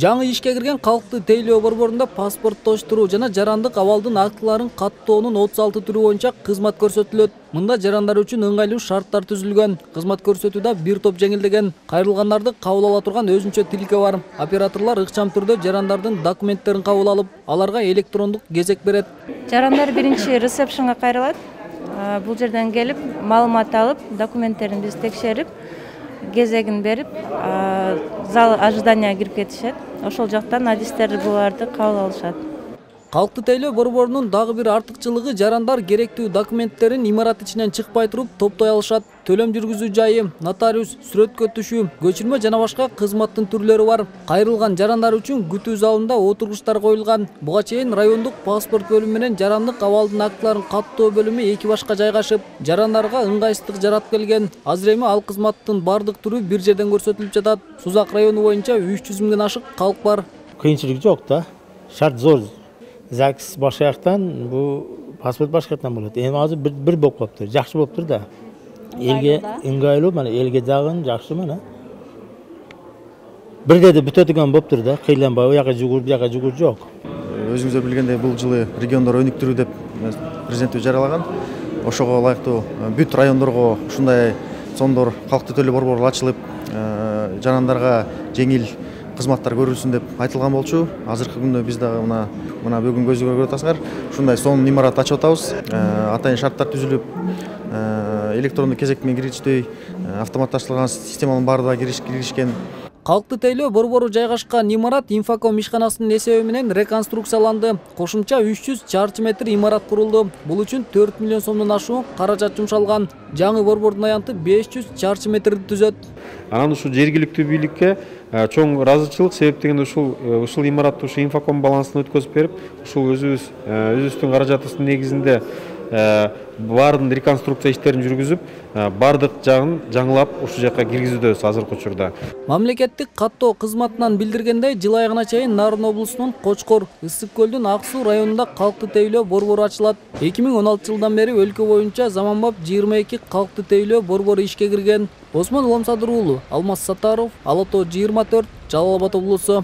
Жаңы ишке кирген калкты тейлөө борборунда паспорттоштуруу жана жарандык абалдын актыларын каттоонун 36 түрү боюнча кызмат көрсөтүлөт. Мында жарандар үчүн ыңгайлуу шарттар түзүлгөн. Кызмат көрсөтүүдө бир топ жеңилдеген. Кайрылгандарды кабыл ала турган өзүнчө тилке бар. Операторлор ыкчам түрдө жарандардын документтерин кабыл алып, аларга электрондук кезек берет. Жарандар биринчи ресепшнга кайрылат. Бул жерден келип, маалымат алып, документтерин биз текшерип, кезегин берип, зал ожиданияга кирип кетишет. Ошол жактан адистер буларды кабыл алышат. Калкты тейлөө борборунун дагы бир артыкчылыгы жарандар керектүү документтерин имарат ичинен чыкпай туруп топтой алышат. Төлөм жүргүзүү жайы, нотариус, сүрөткө түшүү, көчүрмө жана башка кызматтын түрлөрү бар. Кайрылган жарандар үчүн күтүү залында отургучтар коюлган. Буга чейин райондук паспорт бөлүмү менен жарандык абалдын актыларын каттоо бөлүмү эки башка жайгашып, жарандарга ыңгайсыздык жаратып келген. Азыр эми ал кызматтын бардык түрү бир жерден көрсөтүлүп жатат. Сузак району боюнча 300 миңден ашык калк бар. Кыйынчылык жок да. Шарт зор. ЗАГС башка жактан, бул паспорт башка жактан болот. Эми азыр бир болуп калыптыр. Жакшы болуптур да. Элге ыңгайлуу, мына элге дагы жакшы мына. Бирдеде бүтө турган болуптур да. Кыйланбай, у жака жүгүр, бу жака жүгүр жок. Өзүңүздөр билгендей, бул жылы региондор өнүктүрүү деп президенттик жарыялаган. Ошого ылайыктуу бүт райондорго ушундай сондор калкты тейлөө борбору ачылып, жарандарга жеңил кызматтар көрүлсүн деп айтылган болчу. Азыркы күндө биз дагы мына бүгүн көзүгө көрүп атасыңар. Ушундай сонун имарат ачып атабыз. Атайын шарттар түзүлүп, электрондук кезек менен киргичтей автоматташтырылган системанын баардыгы киришкен. Калкты тейлөө борбору жайгашкан имарат инфоком ишканасынын эсеби менен реконструкцияланды. Кошумча 300 чарчы метр имарат курулду. Бул үчүн 4 миллион сомдон ашуун каражат жумшалган. Жаңы борбордун аянты 500 чарчы метрди түзөт. Анан ушул жергиликтүү бийликке чоң ыраазычылык, себеп дегенде ушул имаратты ушу инфоком балансына өткөзүп берип, ушул өзүбүздүн каражатыбыздын негизинде баардык реконструкция иштерин жүргүзүп, баардык жагын жаңылап ушул жака киргизүүдөбүз азыркы учурда. Мамлекеттик каттоо кызматынан билдиргендей, жыл айына чейин Нарын облусунун Кочкор, Ысык көлдүн Ак Суу районунда калкты тейлөө борбору ачылат. 2016 жылдан бери өлкө боюнча заманбап 22 калкты тейлөө борбору ишке кирген. Осмон Уламсадыр уулу, Алмаз Саттаров, Ала Тоо 24, Жалал Абад облусу.